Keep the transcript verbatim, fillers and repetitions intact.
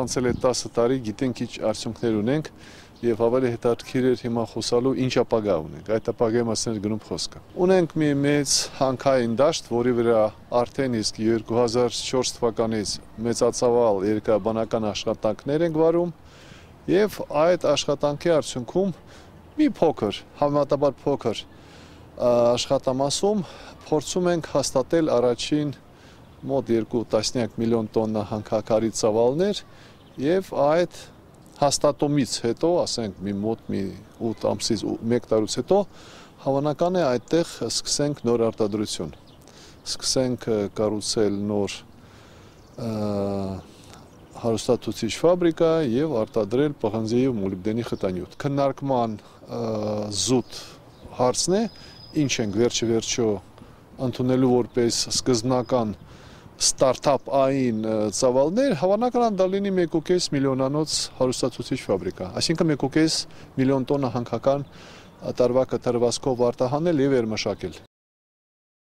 Անցել է տասը տարի, գիտենք ինչ արդյունքներ ունենք եւ ավելի հետաքրքիր էր հիմա խոսալու ինչ ապագա ունենք։ Այդ ապագայի մասին է գնում խոսքը։ Ունենք մի մեծ հանքային դաշտ, որի վրա արդեն իսկ երկու հազար չորս թվականից մեծածավալ երկրաբանական աշխատանքներ ենք վարում եւ այդ աշխատանքի արդյունքում մի փոքր, համեմատաբար փոքր աշխատամասում փորձում ենք հաստատել առաջին մոտ երկու տասնյակ միլիոն տոննա հանքաքարի ծավալներ եւ այդ հաստատումից հետո, ասենք մի մոտ մի ութ ամսից մեկ տարուց հետո հավանական է այդտեղ սկսենք նոր արտադրություն։ Սկսենք կառուցել նոր հարուստացուցիչ ֆաբրիկա եւ արտադրել պղնձի եւ մոլիբդենի խտանյութ։ Քննարկման զուտ հարցն է, ինչ ենք վերջի վերջո ընդունելու որպես սկզբնական ստարտափային ծավալներ, հավանական դա լինի մեկ ու կես միլիոնանոց հարուստացուցիչ ֆաբրիկա, այսինքն մեկ ու կես միլիոն տոննա հանքական տարվա կտրվածքով արտահանել եւ երմշակել։